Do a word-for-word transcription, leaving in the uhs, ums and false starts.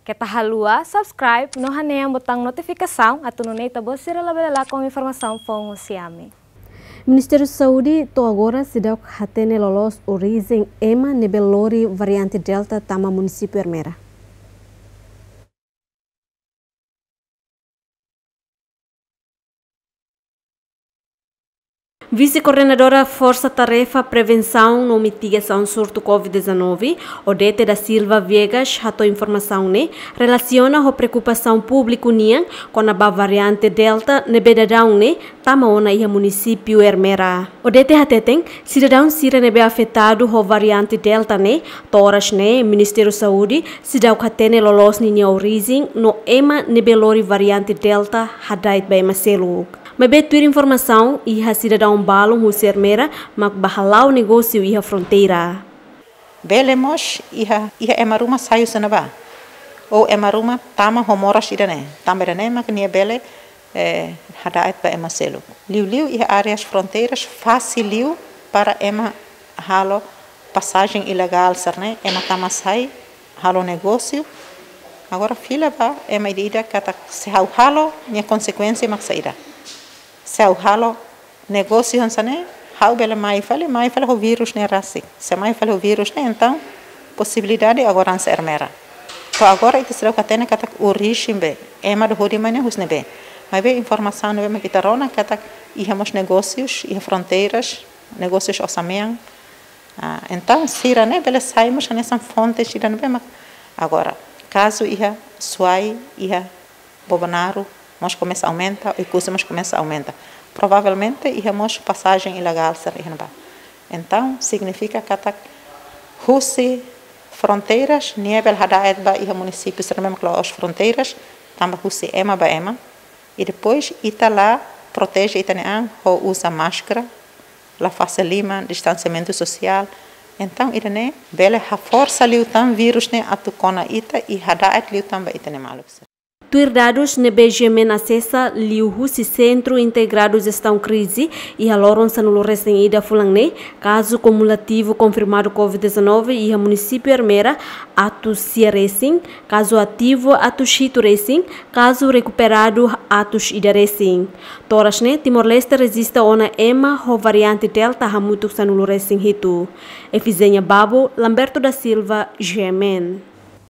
Keta haluha subscribe no hanehan botaun notifikasaun atu nune'e ita-boot sira labele lakon informasaun foun husi ami. Ministériu Saúde to'o agora seidauk hatene loloos orijen ema ne'ebé lori variante Delta tama munisípiu Ermera. Vise-Koordenadora Forsa Tarefa Prevensaun no Mitigasaun Surtu covid dezanove, Odete da Silva Viegas, hato'o informasaun ne'e relasiona ho preokupasaun públiku nian kona-ba variante Delta ne'ebé daudaun ne'e tama ona iha munisípiu Ermera. Odete hateten, sidadaun sira ne'ebé afetadu ho variante Delta ne'e, to'o oras ne'e Ministériu Saúde seidauk hatene loloos ninia orijen no ema ne'ebé lori variante Delta hada'et ba ema seluk. Maibé tuir informasaun, iha sidadaun balun husi Ermera mak bá hala'o negósiu iha fronteira. Bele mós iha, iha ema ruma sai husi ne'ebá. Ou ema ruma tama ho moras ida-ne'e. Tanba ida-ne'e mak nia bele, eh, hada'et ba ema seluk. Liuliu iha áreas fronteiras fasil liu para ema halo pasajen ilegál sira-ne'e, ema tama sai, halo negósiu. Agora fila ba ema ida-idak katak se ha'u halo, nia konsekuénsia mak saida. Se ha'u halo negósiu hanesan ne'e, ha'u bele mai fali, mai fali ho vírus ne'e rasik. Se mai fali ho vírus ne'e, entaun posibilidade agora hanesan Ermera. To'o agora ita seidauk hatene katak orijen be, ema ida hodi mai ne'e husi ne'ebé. Maibé informasaun ne'ebé mak ita rona katak iha mós negósius iha fronteiras, negósius osan-mean. Ah, entaun sira-ne'e bele sai mós hanesan fonte sira ne'ebé mak. Agora, kazu iha Suai, iha Bobonaro, mós komesa aumenta, Oekusi mós komesa aumenta. Provavelmente iha mós pasajen ilegál sira iha ne'ebá. Entaun signifika katak husi fronteiras, nia bele hada'et ba iha munisípiu sira ne'ebé mak la'ós fronteiras, tanba husi ema ba ema. I depois ita la proteje ita-nia an ho uza máskara, la fase liman, distansiamentu sosiál. Entaun ida-ne'e bele haforsa liután vírus ne'e atu kona ita i hada'et liután ba ita-nia maluk sira. Tuir dadus ne'ebé GMN asesa liuhusi Sentru Integradu Jestaun Krize, iha loron sanulu-resin-ida fulan ne'e, kazu kumulativu konfirmadu covid dezanove iha munisípiu Ermera atus sia resin, kazu ativu atus hitu resin, kazu rekuperadu atus ida resin. To'o oras ne'e, Timor-Leste rejista ona ema ho variante Delta hamutuk sanulu-resin-hitu. Efizénia Babo, Lamberto da Silva, GMN.